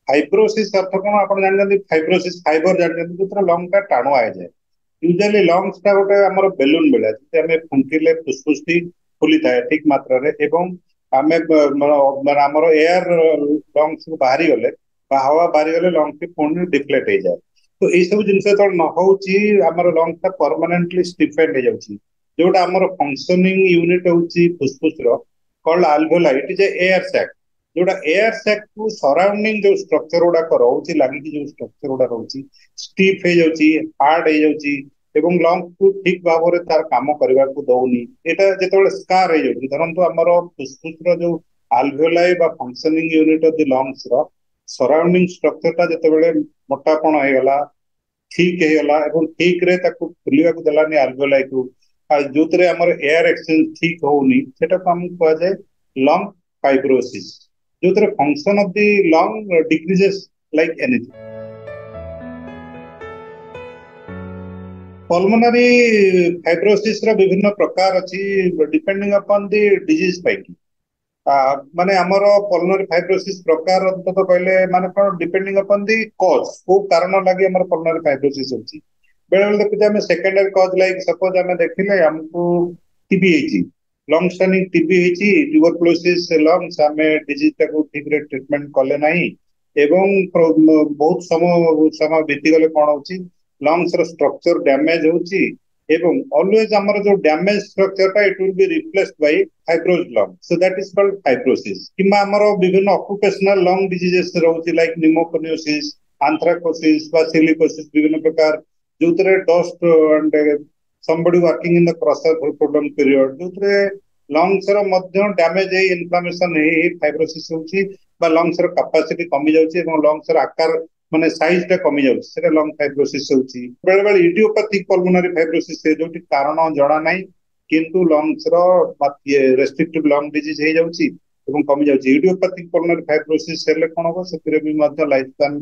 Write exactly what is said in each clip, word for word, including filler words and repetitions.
Fibrosis ଅର୍ଥ କଣ ଆପଣ ଜାଣିଛନ୍ତି ଫାଇବ୍ରୋସିସ୍ ଫାଇବର ଜାଣିଛନ୍ତି ଯୋଉଥିରେ ଲଙ୍ଗ ଟା ଟାଣୁଆ ହେଇଯାଏ ୟୁଜୁଆଲି ଲଙ୍ଗସ ଟା ଗୋଟେ ଆମର ବେଲୁନ ଭଳିଆ ଯେମିତି ଆମେ ଫୁଙ୍କିଲେ ଫୁସଫୁସଟି ଫୁଲିଥାଏ ଠିକ ମାତ୍ରାରେ ଏବଂ ଆମେ ମାନେ ଆମର ଏୟାର ଲଙ୍ଗସ ବାହାରିଗଲେ ବା ହାୱା ବାହାରିଗଲେ ଲଙ୍ଗଟି ପୁଣି ଡିଫ୍ଲେଟ ହେଇଯାଏ ତ ଏଇ ସବୁ ଜିନିଷ ଯେତେବେଳେ ନ ହଉଛି ଆମର ଲଙ୍ଗ ଟା ପରମାନେଣ୍ଟଲି ଷ୍ଟିଫେଣ୍ଡ ହେଇଯାଉଛି ଯୋଉଟା ଆମର ଫଙ୍କସନିଂ ୟୁନିଟ ହଉଛି ଫୁସଫୁସର called alveoli it is a air sac ଯୋଉଟା ଏୟାର ସ୍ୟାକ୍ କୁ ସରାଉଣ୍ଡିଂ ଯୋଉ ଷ୍ଟ୍ରକ୍ଚର ଗୁଡାକ ରହୁଛି ଲାଗିକି ଯୋଉ ଷ୍ଟ୍ରକ୍ଚର ଗୁଡା ରହୁଛି ଷ୍ଟିଫ୍ ହେଇଯାଉଛି ହାର୍ଡ ହେଇଯାଉଛି ଏବଂ ଲଙ୍ଗ କୁ ଠିକ ଭାବରେ ତାର କାମ କରିବାକୁ ଦଉନି ଏଇଟା ଯେତେବେଳେ ସ୍କାର ହେଇଯାଉଛି ଧରନ୍ତୁ ଆମର ଫୁସଫୁସର ଯୋଉ ଆଲଭିଓଲାଇ ବା functioning unit of the lungs ର ସରାଉଣ୍ଡିଂ ଷ୍ଟ୍ରକ୍ଚର ଟା ଯେତେବେଳେ ମୋଟାପଣ ହେଇଗଲା ଠିକ ହେଇଗଲା ଏବଂ ଠିକରେ ତାକୁ ଫୁଲିବାକୁ ଦେଲାନି ଆଲଭିଓଲାଇ କୁ ଆଉ ଯୋଉଥିରେ ଆମର ଏୟାର ଏକ୍ସଚେଞ୍ଜ ଠିକ ହଉନି ସେଟାକୁ ଆମକୁ କୁହାଯାଏ ଲଙ୍ଗ ଫାଇବ୍ରୋସିସ୍ ଯୋଉଥିରେ function of the lung decreases like anything pulmonary fibrosis ର ବିଭିନ୍ନ ପ୍ରକାର ଅଛି ଡିପେଣ୍ଡିଂ ଅପନ୍ ଦି ଡିଜିଜ ପାଇକି ମାନେ ଆମର ପଲମୋନାରୀ ଫାଇବ୍ରୋସିସ୍ ପ୍ରକାର ଅନ୍ତତଃ କହିଲେ ମାନେ କଣ ଡିପେଣ୍ଡିଂ ଅପନ୍ ଦି କଜ୍ କୋଉ କାରଣ ଲାଗି ଆମର ପଲମୋନାରୀ ଫାଇବ୍ରୋସିସ୍ ହଉଛି ବେଳେ ବେଳେ ଦେଖୁଛେ ଆମେ ସେକେଣ୍ଡାରୀ କଜ୍ ଲାଇକ୍ ସପୋଜ ଆମେ ଦେଖିଲେ ଆମକୁ ଟିବି ହେଇଛି ଲଙ୍ଗ ଷ୍ଟାଣ୍ଡିଂ ଟିବି ହେଇଛି ଟ୍ୟୁବରକ୍ଲୋସିସ୍ ଲଙ୍ଗସ ଆମେ ଡିଜିଜ ଟାକୁ ଠିକରେ ଟ୍ରିଟମେଣ୍ଟ କଲେ ନାହିଁ ଏବଂ ବହୁତ ସମୟ ସମୟ ବିତିଗଲେ କଣ ହଉଛି ଲଙ୍ଗସ ର ଷ୍ଟ୍ରକ୍ଚର ଡ୍ୟାମେଜ ହଉଛି ଏବଂ ଅଲୱେଜ ଆମର ଯୋଉ ଡ୍ୟାମେଜ ଷ୍ଟ୍ରକ୍ଚର ଟା it will be replaced by fibrosed lung so that is called fibrosis କିମ୍ବା ଆମର ବିଭିନ୍ନ ଅକୁପେସନାଲ ଲଙ୍ଗ ଡିଜିଜେସ୍ ରହୁଛି ଲାଇକ୍ ନିମୋକୋନିଓସିସ୍ ଆନ୍ଥ୍ରାକୋସିସ୍ ବା ସିଲିକୋସିସ୍ ବିଭିନ୍ନ ପ୍ରକାର ଯୋଉଥିରେ dust and somebody working in the crusher for prolonged period ଯୋଉଥିରେ ଲଙ୍ଗସ ର ମଧ୍ୟ ଡ୍ୟାମେଜ ହେଇ ଇନଫ୍ଲାମେସନ ହେଇ ହେଇ ଫାଇବ୍ରୋସିସ୍ ହଉଛି ବା ଲଙ୍ଗସ ର କାପାସିଟି କମି ଯାଉଛି ଏବଂ ଲଙ୍ଗସ ର ଆକାର ମାନେ ସାଇଜ ଟା କମି ଯାଉଛି ସେଟା ଲଙ୍ଗ ଫାଇବ୍ରୋସିସ୍ ହଉଛି ବେଳେ ବେଳେ ଇଡିଓପାଥିକ ପଲମୋନାରୀ ଫାଇବ୍ରୋସିସ୍ ଯୋଉଠି କାରଣ ଜଣା ନାହିଁ କିନ୍ତୁ ଲଙ୍ଗସ ର ରେଷ୍ଟ୍ରିକ୍ଟିଭ ଲଙ୍ଗ ଡିଜିଜ ହେଇଯାଉଛି ଏବଂ କମି ଯାଉଛି ଇଡିଓପାଥିକ ପଲମୋନାରୀ ଫାଇବ୍ରୋସିସ୍ ହେଲେ କଣ ହବ ସେଥିରେ ବି ମଧ୍ୟ ଲାଇଫ ସ୍ପାନ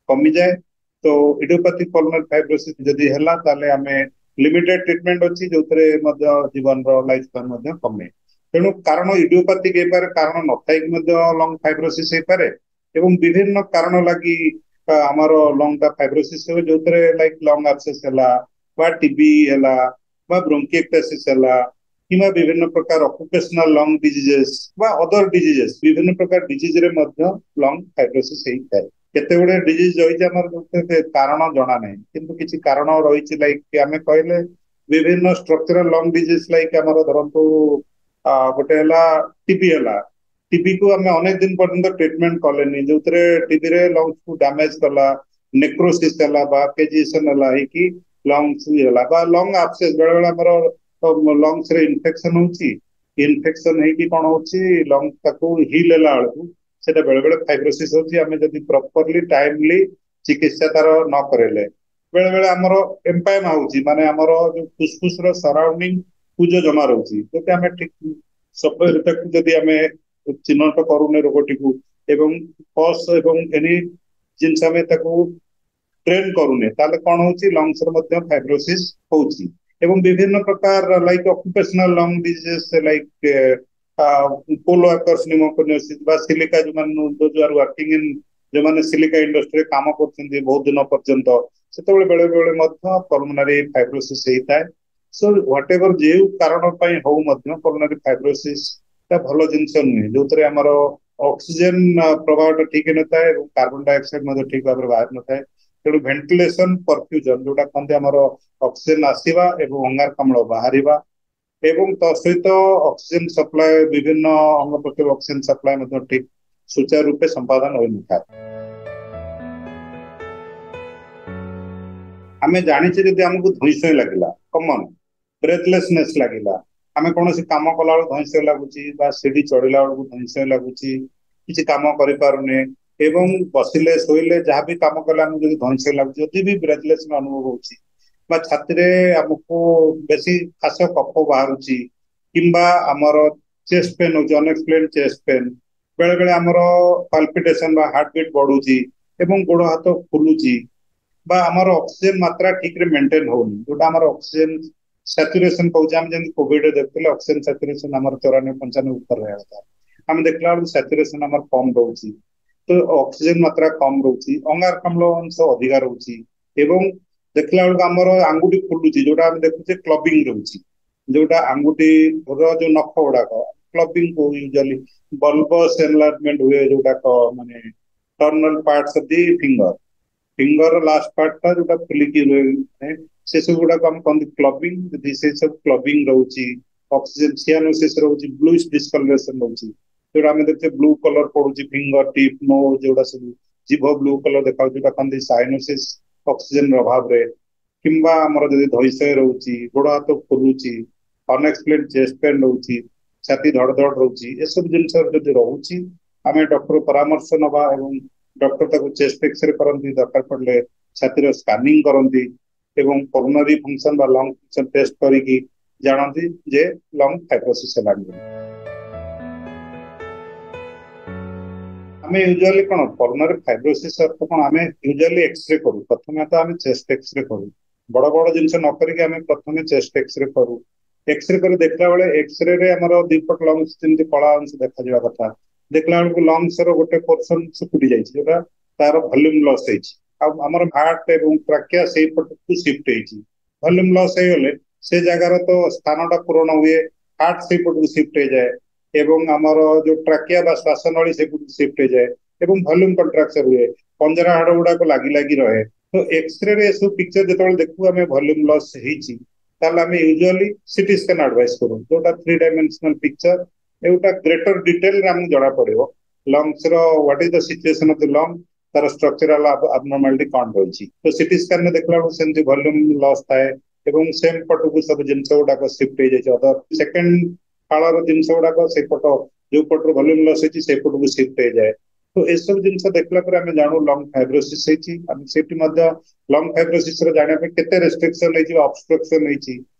କମିଯାଏ ତ ଇଡିଓପାଥିକ ପଲମୋନାରୀ ଫାଇବ୍ରୋସିସ୍ ଯଦି ହେଲା ତାହେଲେ ଆମେ ଲିମିଟେଡ ଟ୍ରିଟମେଣ୍ଟ ଅଛି ଯୋଉଥିରେ ମଧ୍ୟ ଜୀବନର ଲାଇଫ ସ୍ପାନ ମଧ୍ୟ କମେ ତେଣୁ କାରଣ ଇଡିଓପାଥିକ ହେଇପାରେ କାରଣ ନଥାଇକି ମଧ୍ୟ ଲଙ୍ଗ ଫାଇବ୍ରୋସିସ୍ ହେଇପାରେ ଏବଂ ବିଭିନ୍ନ କାରଣ ଲାଗି ଆମର ଲଙ୍ଗ ଟା ଫାଇବ୍ରୋସିସ୍ ହୁଏ ଯୋଉଥିରେ ଲାଇକ୍ ଲଙ୍ଗ ଆବସେସ୍ ହେଲା ବା ଟିବି ହେଲା ବା ବ୍ରୋଙ୍କିଏକ୍ଟାସିସ୍ ହେଲା କିମ୍ବା ବିଭିନ୍ନ ପ୍ରକାର ଅକୁପେସନାଲ ଲଙ୍ଗ ଡିଜିଜେସ୍ ବା ଅଦର ଡିଜିଜେସ୍ ବିଭିନ୍ନ ପ୍ରକାର ଡିଜିଜରେ ମଧ୍ୟ ଲଙ୍ଗ ଫାଇବ୍ରୋସିସ୍ ହେଇଥାଏ କେତେ ଗୁଡେ ଡିଜିଜ ରହିଛି ଆମର ଯୋଉଥିରେ କାରଣ ଜଣା ନାହିଁ କିନ୍ତୁ କିଛି କାରଣ ରହିଛି ଲାଇକ୍ ଆମେ କହିଲେ ବିଭିନ୍ନ ଷ୍ଟ୍ରକ୍ଚରାଲ ଲଙ୍ଗ ଡିଜିଜ ଲାଇକ୍ ଆମର ଧରନ୍ତୁ ଗୋଟେ ହେଲା ଟିବି ହେଲା ଟିବି କୁ ଆମେ ଅନେକ ଦିନ ପର୍ଯ୍ୟନ୍ତ ଟ୍ରିଟମେଣ୍ଟ କଲେନି ଯୋଉଥିରେ ଟିବିରେ ଲଙ୍ଗସ କୁ ଡ୍ୟାମେଜ କଲା ନେକ୍ରୋସିସ୍ ହେଲା ବା କେଜିଏସନ ହେଲା ହେଇକି ଲଙ୍ଗସ ହେଲା ବା ଲଙ୍ଗ ଆବସେସ୍ ବେଳେ ବେଳେ ଆମର ଲଙ୍ଗସ ରେ ଇନଫେକ୍ସନ ହଉଛି ଇନଫେକ୍ସନ ହେଇକି କଣ ହଉଛି ଲଙ୍ଗ ତାକୁ ହିଲ୍ ହେଲା ବେଳକୁ ସେଟା ବେଳେ ବେଳେ ଫାଇବ୍ରୋସିସ୍ ହଉଛି ଆମେ ଯଦି ପ୍ରପରଲି ଟାଇମଲି ଚିକିତ୍ସା ତାର ନ କରେଇଲେ ବେଳେ ବେଳେ ଆମର ଏମ୍ପାଇମା ହଉଛି ମାନେ ଆମର ଯୋଉ ଫୁସଫୁସ ର ସରାଉଣ୍ଡିଂ ପୂଜ ଜମା ରହୁଛି ଯଦି ଆମେ ଠିକ ତାକୁ ଯଦି ଆମେ ଚିହ୍ନଟ କରୁନେ ରୋଗଟିକୁ ଏବଂ ପସ୍ ଏବଂ ଏନି ଜିନିଷ ଆମେ ତାକୁ ଟ୍ରେନ୍ କରୁନେ ତାହେଲେ କଣ ହଉଛି ଲଙ୍ଗସର ମଧ୍ୟ ଫାଇବ୍ରୋସିସ୍ ହଉଛି ଏବଂ ବିଭିନ୍ନ ପ୍ରକାର like occupational lung diseases like coal workers pneumoconiosis ବା ସିଲିକା ଯୋଉମାନେ those are working in ଯୋଉମାନେ ସିଲିକା ଇଣ୍ଡଷ୍ଟ୍ରିରେ କାମ କରୁଛନ୍ତି ବହୁତ ଦିନ ପର୍ଯ୍ୟନ୍ତ ସେତେବେଳେ ବେଳେ ବେଳେ ମଧ୍ୟ ପଲମୋନାରୀ ଫାଇବ୍ରୋସିସ୍ ହେଇଥାଏ ସୋ what ever ଯେଉଁ କାରଣ ପାଇଁ ହଉ ମଧ୍ୟ ପଲମୋନାରୀ ଫାଇବ୍ରୋସିସ୍ ଟା ଭଲ ଜିନିଷ ନୁହେଁ ଯୋଉଥିରେ ଆମର ଅକ୍ସିଜେନ ପ୍ରବାହଟା ଠିକ ହେଇନଥାଏ ଏବଂ କାର୍ବନ ଡାଇଅକ୍ସାଇଡ ମଧ୍ୟ ଠିକ ଭାବରେ ବାହାରି ନଥାଏ ତେଣୁ ଭେଣ୍ଟିଲେସନ ପରଫ୍ୟୁଜନ ଯୋଉଟା କହନ୍ତି ଆମର ଅକ୍ସିଜେନ ଆସିବା ଏବଂ ଅଙ୍ଗାରକାମ୍ଳ ବାହାରିବା ଏବଂ ତା ସହିତ ଅକ୍ସିଜେନ ସପ୍ଲାଏ ବିଭିନ୍ନ ଅଙ୍ଗ ପ୍ରତ୍ୟଙ୍ଗ ଅକ୍ସିଜେନ ସପ୍ଲାଏ ମଧ୍ୟ ଠିକ ସୁଚାରୁ ରୂପେ ସମ୍ପାଦନ ହୋଇନଥାଏ ଆମେ ଜାଣିଛେ ଯଦି ଆମକୁ ଧଇଁ ସଇଁ ଲାଗିଲା କମନ ବ୍ରେଥଲେସନେସ୍ ଲାଗିଲା ଆମେ କୌଣସି କାମ କଲା ବେଳକୁ ଧଇଁ ସଇଁ ଲାଗୁଛି ବା ସିଢି ଚଢିଲା ବେଳକୁ ଧଇଁ ସଇଁ ଲାଗୁଛି କିଛି କାମ କରିପାରୁନେ ଏବଂ ବସିଲେ ଶୋଇଲେ ଯାହା ବି କାମ କଲେ ଆମକୁ ଯଦି ଧଇଁ ସଇଁ ଲାଗୁଛି ଯଦି ବି ବ୍ରେଥଲେସ୍ ଅନୁଭବ ହଉଛି ବା ଛାତିରେ ଆମକୁ ବେଶୀ ଖାସ କଫ ବାହାରୁଛି କିମ୍ବା ଆମର ଚେଷ୍ଟ ପେନ୍ ହଉଛି ଅନଏକ୍ସପ୍ଲେନ ଚେଷ୍ଟ ପେନ୍ ବେଳେ ବେଳେ ଆମର ପାଲପିଟେସନ ବା ହାର୍ଟ ବିଟ୍ ବଢୁଛି ଏବଂ ଗୋଡ ହାତ ଫୁଲୁଛି ବା ଆମର ଅକ୍ସିଜେନ ମାତ୍ରା ଠିକରେ ମେଣ୍ଟେନ ହଉନି ଯୋଉଟା ଆମର ଅକ୍ସିଜେନ ସାଚୁରେସନ କହୁଛେ ଆମେ ଯେମିତି କୋଭିଡରେ ଦେଖୁଥିଲେ ଅକ୍ସିଜେନ ସାଚୁରେସନ ଆମର ଚଉରାନବେ ପଞ୍ଚାନବେ ଉପରେ ରହିବା କଥା ଆମେ ଦେଖିଲା ବେଳକୁ ସାଚୁରେସନ ଆମର କମ ରହୁଛି ତ ତ ଅକ୍ସିଜେନ ମାତ୍ରା କମ ରହୁଛି, ଅଙ୍ଗାରକାମ୍ଳ ଅଂଶ ଅଧିକା ରହୁଛି ଏବଂ ଦେଖିଲା ବେଳକୁ ଆମର ଆଙ୍ଗୁଠି ଫୁଲୁଛି, ଯୋଉଟା ଆମେ ଦେଖୁଛେ କ୍ଲବିଂ ରହୁଛି, ଯୋଉଟା ଆଙ୍ଗୁଠିର ଯୋଉ ନଖ ଗୁଡାକ କ୍ଲବିଂ କୁ ୟୁଜୁଆଲି ବଲବସ ଏନଲାର୍ଜମେଣ୍ଟ ହୁଏ, ଯୋଉଟା ମାନେ terminal parts of the finger, finger last part ଟା ଯୋଉଟା ଫୁଲିକି ରୁହେ, ସେ ସବୁ ଗୁଡାକ ଆମେ କହନ୍ତି କ୍ଲବିଂ। ଯଦି ସେ ସବୁ କ୍ଲବିଂ ରହୁଛି, ଅକ୍ସିଜେନ ସିଆନୋସିସ୍ ରହୁଛି, ବ୍ଲୁଇଶ ଡିସକଲରେସନ ରହୁଛି, ଯୋଉଟା ଆମେ ଦେଖୁଛେ ବ୍ଲୁ କଲର ପଡୁଛି ଫିଙ୍ଗର ଟିପ୍, ନୋଜ, ଯୋଉଟା ସବୁ ଜିଭ ବ୍ଲୁ କଲର ଦେଖାଯାଉଛି, ଯୋଉଟା କହନ୍ତି ସାଇନୋସିସ୍ ଅକ୍ସିଜେନ ଅଭାବରେ। କିମ୍ବା ଆମର ଯଦି ଧଇଁସଇଁ ରହୁଛି, ଗୋଡ ହାତ ଫୁଲୁଛି, ଅନଏକ୍ସପ୍ଲେନ ଚେଷ୍ଟ ପେନ୍ ରହୁଛି, ଛାତି ଧଡ ଧଡ ରହୁଛି, ଏସବୁ ଜିନିଷ ଯଦି ରହୁଛି ଆମେ ଡକ୍ଟର ପରାମର୍ଶ ନବା ଏବଂ ଡକ୍ଟର ତାକୁ ଚେଷ୍ଟ ଏକ୍ସରେ କରନ୍ତି, ଦରକାର ପଡିଲେ ଛାତିର ସ୍କାନିଂ କରନ୍ତି ଏବଂ ପଲମୋନାରୀ ଫଙ୍କସନ ବା ଲଙ୍ଗ ଫଙ୍କସନ ଟେଷ୍ଟ କରିକି ଜାଣନ୍ତି ଯେ ଲଙ୍ଗ ଫାଇବ୍ରୋସିସ୍ ହେଲାଣି ବୋଲି। ଆମେ ୟୁଜୁଆଲି କଣ ପଲମୋନାରୀ ଫାଇବ୍ରୋସିସ୍ ଅର୍ଥ କଣ, ଆମେ ୟୁଜୁଆଲି ଏକ୍ସରେ କରୁ। ପ୍ରଥମେ ତ ଆମେ ଚେଷ୍ଟ ଏକ୍ସରେ କରୁ, ବଡ ବଡ ଜିନିଷ ନ କରିକି ଆମେ ପ୍ରଥମେ ଚେଷ୍ଟ ଏକ୍ସରେ କରୁ। ଏକ୍ସରେ କରି ଦେଖିଲା ବେଳେ ଏକ୍ସରେ ରେ ଆମର ଦିପଟ ଲଙ୍ଗସ ଯେମିତି କଳା ଅଂଶ ଦେଖାଯିବା କଥା, ଦେଖିଲା ବେଳକୁ ଲଙ୍ଗସ ର ଗୋଟେ ପୋର୍ସନ ଶୁକୁଟି ଯାଇଛି, ଯୋଉଟା ତାର ଭଲ୍ୟୁମ ଲସ୍ ହେଇଛି, ଆଉ ଆମର ହାର୍ଟ ଏବଂ ଟ୍ରାକିଆ ସେଇ ପଟକୁ ସିଫ୍ଟ ହେଇଛି। ଭଲ୍ୟୁମ ଲସ୍ ହେଇଗଲେ ସେ ଜାଗାର ତ ସ୍ଥାନଟା ପୂରଣ ହୁଏ, ହାର୍ଟ ସେଇ ପଟକୁ ସିଫ୍ଟ ହେଇଯାଏ ଏବଂ ଆମର ଯୋଉ ଟ୍ରାକିଆ ବା ଶ୍ୱାସ ନଳୀ ସେପଟକୁ ସିଫ୍ଟ ହେଇଯାଏ ଏବଂ ଭଲ୍ୟୁମ କଣ୍ଟ୍ରାକ୍ଚର ହୁଏ, ପଞ୍ଜରା ହାଡ ଗୁଡାକ ଲାଗି ଲାଗି ରହେ। ତ ଏକ୍ସରେ ରେ ଏସବୁ ପିକ୍ଚର ଯେତେବେଳେ ଦେଖୁ ଆମେ ଭଲ୍ୟୁମ ଲସ୍ ହେଇଛି, ତାହେଲେ ଆମେ ୟୁଜୁଆଲି ସିଟି ସ୍କାନ ଆଡଭାଇସ କରୁ, ଯୋଉଟା ଥ୍ରୀ ଡାଇମେନସନାଲ ପିକ୍ଚର, ଏଇଟା ଗ୍ରେଟର ଡିଟେଲରେ ଆମକୁ ଜଣା ପଡିବ ଲଙ୍ଗସ ର what is the situation of the lung, ତାର ଷ୍ଟ୍ରକ୍ଚରାଲ ଆବନର୍ମାଲିଟି କଣ ରହିଛି। ତ ସିଟି ସ୍କାନ ରେ ଦେଖିଲା ବେଳକୁ ସେମିତି ଭଲ୍ୟୁମ ଲସ୍ ଥାଏ ଏବଂ ସେମ ପଟକୁ ସବୁ ଜିନିଷ ଗୁଡାକ ସିଫ୍ଟ ହେଇଯାଇଛି, ଅଦର ସେକେଣ୍ଡ ଫାଳର ଜିନିଷ ଗୁଡାକ ସେପଟ ଯୋଉ ପଟରୁ ଭଲ୍ୟୁମ ଲସ୍ ହେଇଛି ସେପଟକୁ ସିଫ୍ଟ ହେଇଯାଏ। ତ ଏସବୁ ଜିନିଷ ଦେଖିଲା ପରେ ଆମେ ଜାଣୁ ଲଙ୍ଗ ଫାଇବ୍ରୋସିସ୍ ହେଇଛି। ଆମେ ସେଠି ମଧ୍ୟ ଲଙ୍ଗ ଫାଇବ୍ରୋସିସ୍ ର ଜାଣିବା ପାଇଁ କେତେ ରେଷ୍ଟ୍ରିକ୍ସନ ହେଇଛି ବା ଅବଷ୍ଟ୍ରକ୍ସନ ହେଇଛି,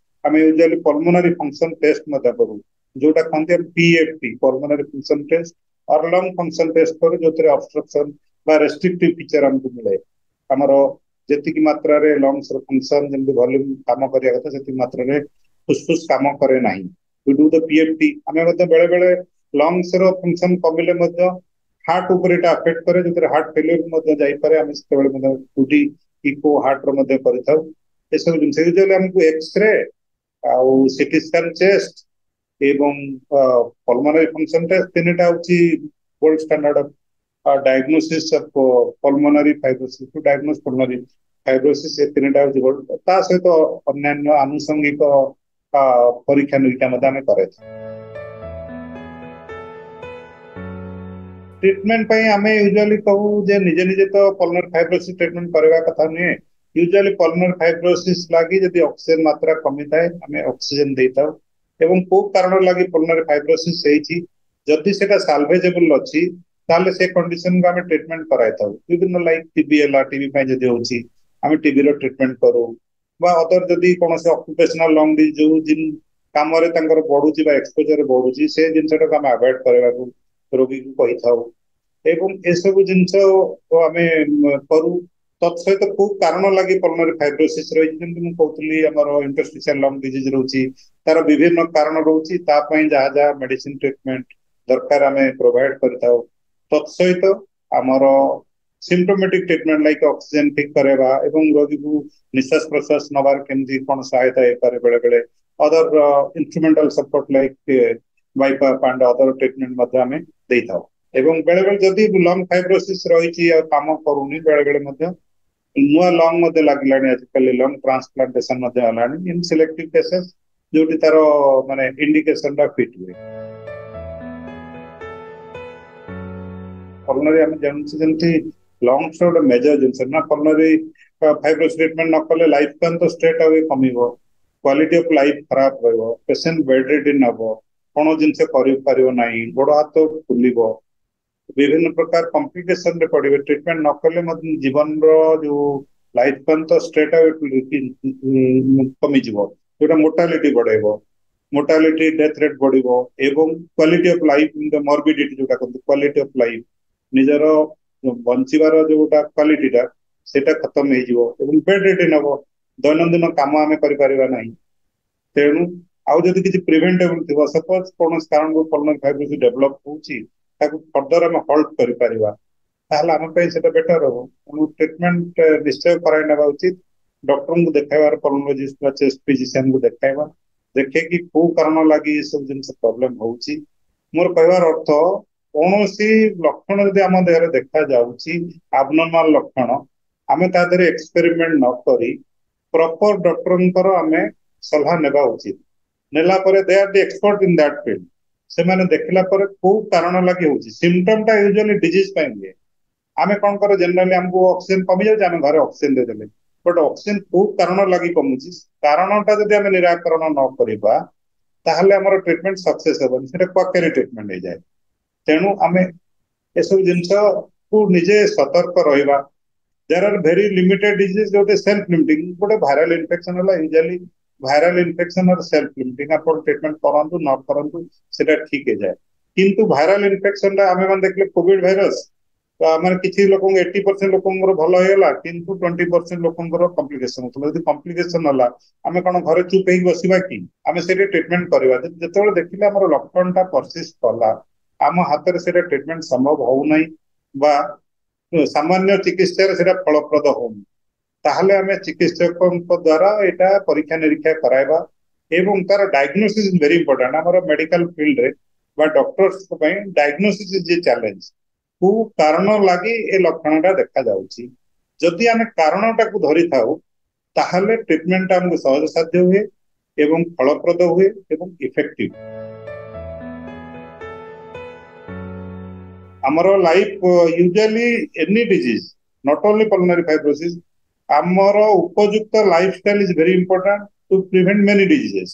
ଆମେ ୟୁଜୁଆଲି ପଲମୋନାରୀ ଫଙ୍କସନ ଟେଷ୍ଟ ମଧ୍ୟ କରୁ, ଯୋଉଟା କହନ୍ତି ଆମେ P F T, pulmonary function test or lung function test କରୁ, ଯୋଉଥିରେ ଅବଷ୍ଟ୍ରକ୍ସନ ବା ରେଷ୍ଟ୍ରିକ୍ଟିଭ ଫିଚର ଆମକୁ ମିଳେ। ଆମର ଯେତିକି ମାତ୍ରାରେ ଲଙ୍ଗସ ର ଫଙ୍କସନ ଯେମିତି ଭଲ୍ୟୁମ କାମ କରିବା କଥା ସେତିକି ମାତ୍ରାରେ ଫୁସଫୁସ କାମ କରେ ନାହିଁ। We do the P F T। ଆମେ ମଧ୍ୟ ବେଳେ ବେଳେ ଲଙ୍ଗସ ର ଫଙ୍କସନ କମିଲେ ମଧ୍ୟ ହାର୍ଟ ଉପରେ ଏଇଟା ଆଫେକ୍ଟ କରେ, ଯୋଉଥିରେ ହାର୍ଟ ଫେଲିୟର ମଧ୍ୟ ଯାଇପାରେ। ଆମେ ସେତେବେଳେ ମଧ୍ୟ ଟୁ ଡି ଇକୋ ହାର୍ଟ ର ମଧ୍ୟ କରିଥାଉ। ଏସବୁ ଜିନିଷ ୟୁଜୁଆଲି ଆମକୁ ଏକ୍ସରେ ଆଉ ସିଟି ସ୍କାନ ଚେଷ୍ଟ ଏବଂ ପଲମୋନାରୀ ଫଙ୍କସନ ଟେଷ୍ଟ ତିନିଟା ହଉଛି gold standard of diagnosis of pulmonary fibrosis, to diagnose pulmonary fibrosis, ଏ ତିନିଟା ହଉଛି ଗୋଲ୍ଡ। ତା ସହିତ ଅନ୍ୟାନ୍ୟ ଆନୁଷଙ୍ଗିକ ପରୀକ୍ଷା ନିରୀକ୍ଷା ମଧ୍ୟ ଆମେ କରାଇଥାଉ। ଟ୍ରିଟମେଣ୍ଟ ପାଇଁ ଆମେ ୟୁଜୁଆଲି କହୁ ଯେ ନିଜେ ନିଜେ ତ ପଲମୋନାରୀ ଫାଇବ୍ରୋସିସ୍ ଟ୍ରିଟମେଣ୍ଟ କରିବା କଥା ନୁହେଁ। ୟୁଜୁଆଲି ପଲମୋନାରୀ ଫାଇବ୍ରୋସିସ୍ ଲାଗି ଯଦି ଅକ୍ସିଜେନ ମାତ୍ରା କମିଥାଏ ଆମେ ଅକ୍ସିଜେନ ଦେଇଥାଉ ଏବଂ କୋଉ କାରଣ ଲାଗି ପଲମୋନାରୀ ଫାଇବ୍ରୋସିସ୍ ହେଇଛି ଯଦି ସେଟା ସାଲଭେଜେବଲ ଅଛି ତାହେଲେ ସେ କଣ୍ଡିସନକୁ ଆମେ ଟ୍ରିଟମେଣ୍ଟ କରାଇଥାଉ। ବିଭିନ୍ନ ଲାଇକ୍ ଟିବି ହେଲା, ଟିବି ପାଇଁ ଯଦି ହଉଛି ଆମେ ଟିବି ର ଟ୍ରିଟମେଣ୍ଟ କରୁ, ବା ଅଦର ଯଦି କୌଣସି ଅକୁପେସନାଲ ଲଙ୍ଗ ଡିଜିଜ ଯୋଉ କାମରେ ତାଙ୍କର ବଢୁଛି ବା ଏକ୍ସପୋଜର ବଢୁଛି ସେ ଜିନିଷଟାକୁ ଆମେ ଆଭଏଡ କରିବାକୁ ରୋଗୀକୁ କହିଥାଉ ଏବଂ ଏସବୁ ଜିନିଷ ଆମେ କରୁ। ତତ୍ ସହିତ କୋଉ କାରଣ ଲାଗି ପଲମୋନାରୀ ଫାଇବ୍ରୋସିସ୍ ରହିଛି, ଯେମିତି ମୁଁ କହୁଥିଲି ଆମର ଇଣ୍ଟରଷ୍ଟିସିଆଲ ଲଙ୍ଗ ଡିଜିଜ ରହୁଛି, ତାର ବିଭିନ୍ନ କାରଣ ରହୁଛି, ତା ପାଇଁ ଯାହା ଯାହା ମେଡିସିନ ଟ୍ରିଟମେଣ୍ଟ ଦରକାର ଆମେ ପ୍ରୋଭାଇଡ କରିଥାଉ। ତତ୍ ସହିତ ଆମର ସିମ୍ପଟୋମେଟିକ ଟ୍ରିଟମେଣ୍ଟ ଲାଇକ୍ ଅକ୍ସିଜେନ ଠିକ କରାଇବା ଏବଂ ରୋଗୀକୁ ନିଶ୍ୱାସ ପ୍ରଶ୍ୱାସ ନବାର କେମିତି କଣ ସହାୟତା ହେଇପାରେ, ବେଳେ ବେଳେ other instrumental support like BiPAP and other treatment ମଧ୍ୟ ଆମେ ଦେଇଥାଉ। ଏବଂ ବେଳେ ବେଳେ ଯଦି ଲଙ୍ଗ ଫାଇବ୍ରୋସିସ୍ ରହିଛି ଆଉ କାମ କରୁନି, ବେଳେ ବେଳେ ମଧ୍ୟ ନୂଆ ଲଙ୍ଗ ମଧ୍ୟ ଲାଗିଲାଣି ଆଜିକାଲି, ଲଙ୍ଗ ଟ୍ରାନ୍ସପ୍ଲାଣ୍ଟେସନ ମଧ୍ୟ ହେଲାଣି ଇନ୍ ସିଲେକ୍ଟିଭ କେସେସ୍ ଯୋଉଠି ତାର ମାନେ ଇଣ୍ଡିକେସନ ଟା ଫିଟ୍ ହୁଏ। ପଲମୋନାରୀ ଆମେ ଜାଣୁଛେ ଯେମିତି ଲଙ୍ଗସ ଗୋଟେ ମେଜର ଜିନିଷ ନା, ପଲମୋନାରୀ ଫାଇବ୍ରୋସିସ୍ ଟ୍ରିଟମେଣ୍ଟ ନ କଲେ ଲାଇଫ ସ୍ପାନ୍ ତ ଷ୍ଟ୍ରେଟ୍ ଆୱେ କମିବ, କ୍ୱାଲିଟି ଅଫ ଲାଇଫ ଖରାପ ରହିବ, ପେସେଣ୍ଟ ବେଡ୍ ରିଡିନ୍ ହବ, କୌଣସି ଜିନିଷ କରିପାରିବ ନାହିଁ, ଗୋଡ ହାତ ଫୁଲିବ, ବିଭିନ୍ନ ପ୍ରକାର କମ୍ପ୍ଲିକେସନ ରେ ପଡିବେ। ଟ୍ରିଟମେଣ୍ଟ ନ କଲେ ମଧ୍ୟ ଜୀବନର ଯୋଉ ଲାଇଫ ସ୍ପାନ୍ ତ ଷ୍ଟ୍ରେଟ୍ ଆୱେ କମିଯିବ, ଯୋଉଟା ମୋର୍ଟାଲିଟି ବଢେଇବ, ମୋର୍ଟାଲିଟି ଡେଥ୍ ରେଟ୍ ବଢିବ ଏବଂ କ୍ୱାଲିଟି ଅଫ ଲାଇଫ ମର୍ବିଡିଟି ଯୋଉଟା କହନ୍ତି କ୍ୱାଲିଟି ଅଫ ଲାଇଫ, ନିଜର ବଞ୍ଚିବାର ଯୋଉଟା କ୍ୱାଲିଟିଟା ସେଇଟା ଖତମ ହେଇଯିବ ଏବଂ ବେଡ୍ ରିଡିନ୍ ହବ, ଦୈନନ୍ଦିନ କାମ ଆମେ କରିପାରିବା ନାହିଁ। ତେଣୁ ଆଉ ଯଦି କିଛି ପ୍ରିଭେଣ୍ଟେବଲ ଥିବ, ସପୋଜ କୌଣସି କାରଣରୁ ପଲମୋନାରୀ ଫାଇବ୍ରୋସିସ୍ ଡେଭଲପ ହଉଛି, ତାକୁ ଫର୍ଦର ଆମେ ହଲ୍ଟ କରିପାରିବା, ତାହେଲେ ଆମ ପାଇଁ ସେଟା ବେଟର ହବ। ତେଣୁ ଟ୍ରିଟମେଣ୍ଟ ନିଶ୍ଚୟ କରାଇ ନେବା ଉଚିତ। ଡକ୍ଟରଙ୍କୁ ଦେଖାଇବାର, ପଲମୋଲୋଜିଷ୍ଟ ବା ଚେଷ୍ଟ ଫିଜିସିଆନକୁ ଦେଖାଇବା, ଦେଖେଇକି କୋଉ କାରଣ ଲାଗି ଏସବୁ ଜିନିଷ ପ୍ରୋବ୍ଲେମ ହଉଛି। ମୋର କହିବାର ଅର୍ଥ, କୌଣସି ଲକ୍ଷଣ ଯଦି ଆମ ଦେହରେ ଦେଖାଯାଉଛି, ଆବନର୍ମାଲ ଲକ୍ଷଣ, ଆମେ ତା ଦେହରେ ଏକ୍ସପେରିମେଣ୍ଟ ନ କରି ପ୍ରପର ଡକ୍ଟରଙ୍କର ଆମେ ସଲାହ ନେବା ଉଚିତ। ନେଲା ପରେ they are the expert in that field। ସେମାନେ ଦେଖିଲା ପରେ କୋଉ କାରଣ ଲାଗି ହଉଛି। ସିମ୍ପଟମ ଟା ୟୁଜୁଆଲି ଡିଜିଜ ପାଇଁ ହୁଏ। ଆମେ କଣ କରେ, ଜେନେରାଲି ଆମକୁ ଅକ୍ସିଜେନ କମି ଯାଉଛି, ଆମେ ଘରେ ଅକ୍ସିଜେନ ଦେଇଦେଲେ। ବଟ୍ ଅକ୍ସିଜେନ କୋଉ କାରଣ ଲାଗି କମୁଛି, କାରଣଟା ଯଦି ଆମେ ନିରାକରଣ ନ କରିବା, ତାହେଲେ ଆମର ଟ୍ରିଟମେଣ୍ଟ ସକ୍ସେସ ହେବନି, ସେଟା କ୍ୱାକେରୀ ଟ୍ରିଟମେଣ୍ଟ ହେଇଯାଏ। ତେଣୁ ଆମେ ଏସବୁ ଜିନିଷକୁ ନିଜେ ସତର୍କ ରହିବା। There are very limited disease ଯୋଉଟେ ସେଲ୍ଫ ଲିମିଟିଂ। ଗୋଟେ ଭାଇରାଲ ଇନଫେକ୍ସନ ହେଲା, usually viral infection are self limiting। ଆପଣ ଟ୍ରିଟମେଣ୍ଟ କରନ୍ତୁ ନ କରନ୍ତୁ, ସେଟା ଠିକ ହେଇଯାଏ। କିନ୍ତୁ ଭାଇରାଲ ଇନଫେକ୍ସନ ଟା ଆମେ ମାନେ ଦେଖିଲେ, କୋଭିଡ ଭାଇରସ ମାନେ କିଛି ଲୋକଙ୍କୁ, ଏଇଟି ପରସେଣ୍ଟ ଲୋକଙ୍କର ଭଲ ହେଇଗଲା, କିନ୍ତୁ ଟ୍ୱେଣ୍ଟି ପରସେଣ୍ଟ ଲୋକଙ୍କର କମ୍ପ୍ଲିକେସନ ହଉଥିଲା। ଯଦି କମ୍ପ୍ଲିକେସନ ହେଲା, ଆମେ କଣ ଘରେ ଚୁପ ହେଇକି ବସିବା କି? ଆମେ ସେଠି ଟ୍ରିଟମେଣ୍ଟ କରିବା। ଯେତେବେଳେ ଦେଖିଲେ ଆମର ଲକ୍ଷଣଟା ପରସିଷ୍ଟ କଲା, ଆମ ହାତରେ ସେଇଟା ଟ୍ରିଟମେଣ୍ଟ ସମ୍ଭବ ହଉନାହିଁ ବା ସାମାନ୍ୟ ଚିକିତ୍ସାରେ ସେଇଟା ଫଳପ୍ରଦ ହଉନି, ତାହେଲେ ଆମେ ଚିକିତ୍ସକଙ୍କ ଦ୍ଵାରା ଏଇଟା ପରୀକ୍ଷା ନିରୀକ୍ଷା କରାଇବା। ଏବଂ ତାର ଡାଇଗ୍ନୋସିସ୍ ଭେରି ଇମ୍ପୋର୍ଟାଣ୍ଟ। ଆମର ମେଡିକାଲ ଫିଲ୍ଡରେ ବା ଡକ୍ଟର୍ସଙ୍କ ପାଇଁ ଡାଇଗ୍ନୋସିସ୍ is a challenge. କୋଉ କାରଣ ଲାଗି ଏ ଲକ୍ଷଣଟା ଦେଖାଯାଉଛି, ଯଦି ଆମେ କାରଣଟାକୁ ଧରିଥାଉ, ତାହେଲେ ଟ୍ରିଟମେଣ୍ଟ ଆମକୁ ସହଜ ସାଧ୍ୟ ହୁଏ ଏବଂ ଫଳପ୍ରଦ ହୁଏ ଏବଂ ଇଫେକ୍ଟିଭ। ଆମର life usually any disease, not only pulmonary fibrosis, ଆମର ଉପଯୁକ୍ତ lifestyle is very important to prevent many diseases।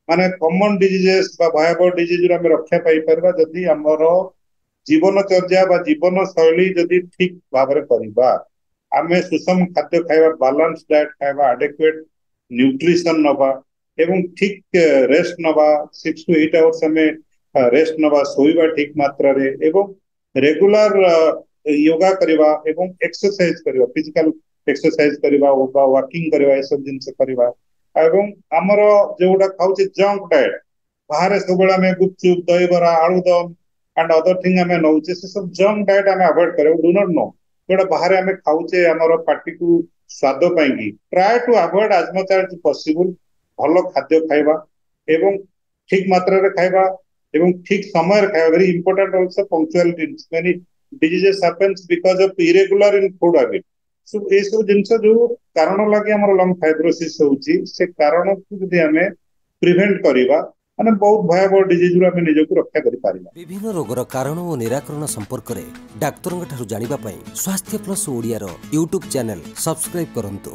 ମାନେ କମନ ଡିଜିଜେସ୍ ବା ଭୟାବହ ଡିଜିଜରୁ ଆମେ ରକ୍ଷା ପାଇପାରିବା, ଯଦି ଆମର ଜୀବନଚର୍ଯ୍ୟା ବା ଜୀବନ ଶୈଳୀ ଯଦି ଠିକ ଭାବରେ କରିବା। ଆମେ ସୁଷମ ଖାଦ୍ୟ ଖାଇବା, ବାଲାନ୍ସ ଡାଏଟ ଖାଇବା, ଆଡେକୁଏଟ ନ୍ୟୁଟ୍ରିସନ ନବା ଏବଂ ଠିକ ରେଷ୍ଟ ନବା। ସିକ୍ସ ଟୁ ଏଇଟ ଆୱାର୍ସ ଆମେ ରେଷ୍ଟ ନବା, ଶୋଇବା ଠିକ ମାତ୍ରାରେ ଏବଂ ରେଗୁଲାର ୟୋଗା କରିବା ଏବଂ ଏକ୍ସରସାଇଜ କରିବା, ଫିଜିକାଲ ଏକ୍ସରସାଇଜ କରିବା ବା ୱାକିଂ କରିବା, ଏସବୁ ଜିନିଷ କରିବା। ଏବଂ ଆମର ଯୋଉଟା ଖାଉଛେ ଜଙ୍କ ଡାଏଟ, ବାହାରେ ସବୁବେଳେ ଆମେ ଗୁପଚୁପ, ଦହିବରା, ଆଳୁଦମ ଆଣ୍ଡ ଅଦର ଥିଙ୍ଗ ଆମେ ନଉଛେ, ସେ ସବୁ ଜଙ୍କ ଡାଏଟ ଆମେ ଆଭଏଡ କରିବା। Do not no ଯୋଉଟା ବାହାରେ ଆମେ ଖାଉଛେ ଆମର ପାଟିକୁ ସ୍ୱାଦ ପାଇଁକି, try to avoid as much as possible। ଭଲ ଖାଦ୍ୟ ଖାଇବା ଏବଂ ଠିକ ମାତ୍ରାରେ ଖାଇବା ଏବଂ ଠିକ ସମୟରେ ଖାଇବା very important also, punctuality. Many diseases happens because of irregular in food habit। ଏସବୁ ଜିନିଷ ଯୋଉ କାରଣ ଲାଗି ଆମର ଲଙ୍ଗ ଫାଇବ୍ରୋସିସ୍ ହଉଛି, ସେ କାରଣକୁ ଯଦି ଆମେ ପ୍ରିଭେଣ୍ଟ କରିବା, ମାନେ ବହୁତ ଭୟାବହ ଡିଜିଜରୁ ଆମେ ନିଜକୁ ରକ୍ଷା କରିପାରିବା। ବିଭିନ୍ନ ରୋଗର କାରଣ ଓ ନିରାକରଣ ସମ୍ପର୍କରେ ଡାକ୍ତରଙ୍କ ଠାରୁ ଜାଣିବା ପାଇଁ ସ୍ୱାସ୍ଥ୍ୟ ପ୍ଲସ୍ ଓଡ଼ିଆର ୟୁଟ୍ୟୁବ୍ ଚ୍ୟାନେଲ ସବସ୍କ୍ରାଇବ୍ କରନ୍ତୁ।